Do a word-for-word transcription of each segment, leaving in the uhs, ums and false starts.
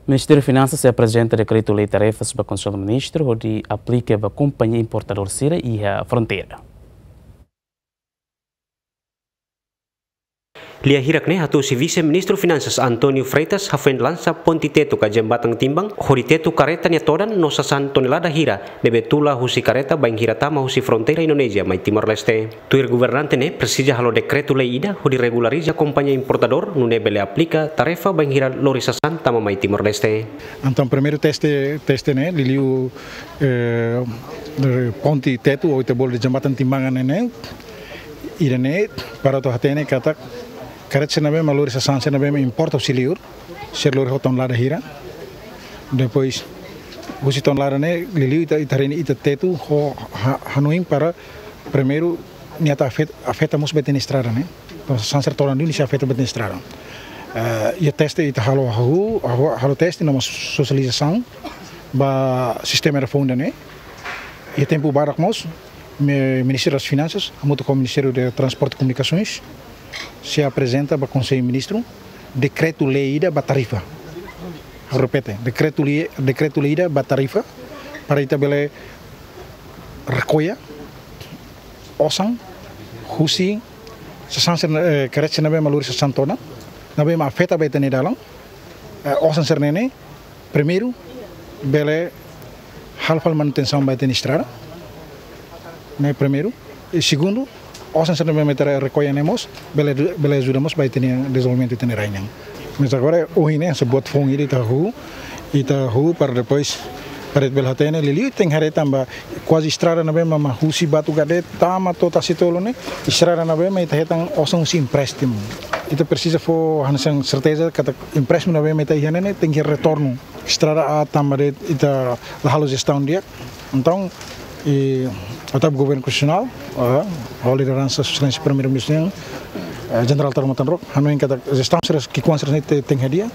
Ministériu Finansas sei aprezenta dekretu-lei tarefas ba Konsellu Ministru hodi aplika ba kompañia importadór sira iha fronteira. Lia hirak ne'e hatusi Vise-Ministru Finansas António Freitas hafoin lansa ponte tetu ka jembatan timbang hodi tetu kareta nia todan no sasán tonelada hira ne'ebé tula husi kareta bainhira tama husi fronteira Indonézia mai Timor-Leste. Tuir governante ne'e presiza halo dekretu-lei ida hodi regulariza kompañia importadór nune'e bele aplika tarefa bainhira lori sasán tama mai Timor-Leste. Entaun primeiru teste, teste ne'e, liuliu, eh, ponte tetu, ou ita bolu dehan jembatan timbang ne'e, ida-ne'e, para atu hatene katak kareta sira ne'ebé mak lori sasán sira ne'ebé mak importa husi liur, sira lori ho tonelada hira. Depois, husi tonelada ne'e, liuliu ita, ita haree ne'e ita tetu ho ha-, hanoin para primeiru nia atu afet-, afeta mós ba ita-nia estrada ne'e. Entaun sasán sira todan liu ne'e sei afeta ba ita-nia estrada. Eh, iha teste ita halo hahú, halo, halo teste no mós sosializasaun ba sistema ida foun ida-ne'e. Iha tempu badak mós, me-, Ministériu das Finansas, hamutuk ho Ministériu de Transporte e Comunicações, sei aprezenta ba Konsellu Ministru dekretu-lei ida ba tarifa. Ha'u repete, dekretu-lei, dekretu-lei ida ba tarifa, para ita bele rekolla osan husi sasán sira, eh, kareta sira ne'ebé mak lori sasán todan, ne'ebé mak afeta ba ita-nia dalan, eh, osan sira-ne'e, primeiru, bele halo fali manutensaun ba ita-nia estrada, ne'e primeiru. I segundu, osan sira ne'ebé mak ita rekolla ne'e mós bele, bele ajuda mós ba ita-nia dezenvolvimentu ita-nia rai nian. Mas agora, ohin ne'e, hanesan buat foun ida ita hahú, ita hahú para depois, para bele hatene, liuliu tenke haree tanba kuaze estrada ne'ebé mak, mak husi Batugade tama to'o Tasitolu ne'e, estrada ne'ebé mak ita hetan osan husi empréstimu. Ita presiza fó hanesan serteza katak empréstimu ne'ebé mak ita iha ne'e, ne'e tenke retornu. Estrada aat tanba de'it ita la halo jestaun di'ak. Entaun, i, atu Governu Konstitusionál, eh, ho lideransa Sua Exelénsia Primeiru-Ministru, eh, Jenerál Taur Matan Ruak, hanoin katak jestaun sira ki'ikoan sira-ne'e te-, tenke hadi'a,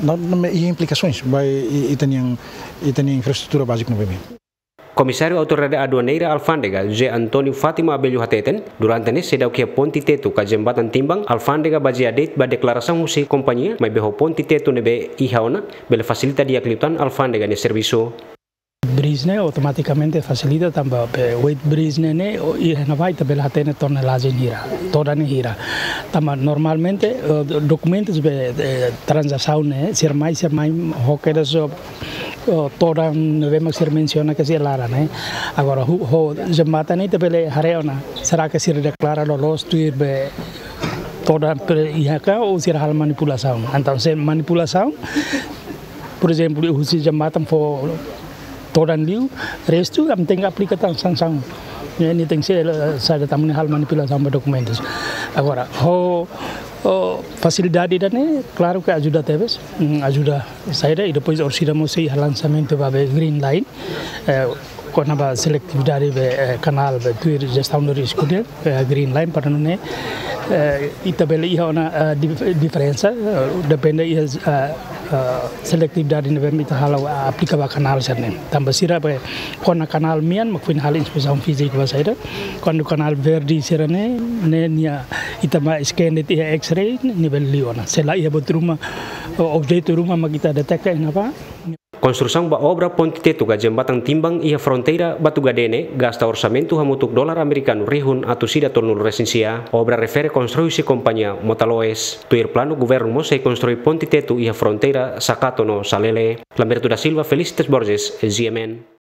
no, no, i implikasoens ba i-, ita-nia, ita-nia infraestrutura bázika ne'ebé. Komisáriu Autoridade Aduaneira Alfándega, José António Fátima Abello hateten, durante ne'e seidauk iha ponte tetu ka jembatan timbang, alfándega bazeia de'it ba deklarasaun husi kompañia, maibé ho ponte tetu ne'ebé iha ona, bele fasilita di'ak liután alfándega nia servisu. Bridge ne'e automatikamente fasilita tanba be weight bridge ne'e ne'e, o, iha ne'ebá ita bele hatene tonelajen hira, todan hira. Tanba normalmente, eh, dokumentus be, eh, tranzasaun ne'e, sira mai, sira mai ho kedas, eh, todan ne'ebé mak sira mensiona ke sira laran ne'e. Agora, ho, ho jembatan ne'e ita bele haree ona, será ke sira deklara loloos tuir be todan pre-, iha ka ou sira halo manipulasaun. Entaun, se manipulasaun, por ezemplu, husi jembatan fó todan liu, restu ami tenke aplika tan sansaun. Ne'e, ne'e tenke ser, eh, saida tanba ne'e halo manipulasaun ba dokumentus. Agora, ho, ho fasilidade ida-ne'e, klaru ke ajuda tebes, mm, ajuda saida, i depois orsida mós sei iha lansamentu ba be Green Line, eh, kona-ba seletividade be, eh, kanál be tuir jestaun de risku ne'e, eh, Green Line para nune'e, eh, ita bele iha ona, eh, dif-, diferensa, eh, depende iha, eh, eh, seletividade ne'ebé mak ita halo, eh, aplika ba kanál sira-ne'e. Tanba sira be kona kanál mean mak foin halo inspesaun fízika ba saida. Kuandu kanál verde sira-ne'e, ne'e nia ita mak scan de'it iha X-ray, ne'e bele liu ona. Se la iha buat ruma, o, objetu ruma mak ita deteta iha ne'ebá. Konstrusaun ba obra ponte tetu ka jembatan timbang iha fronteira Batugade ne'e gasta orsamentu hamutuk dolar amerikanu rihun atus ida tolunulu-resin-sia. Obra refere konstrui husi kompañia Motaloes. Tuir planu, governu mós sei konstrui ponte tetu iha fronteira Sakato no Salele. Lamberto da Silva, Felicitas Borges, G M N.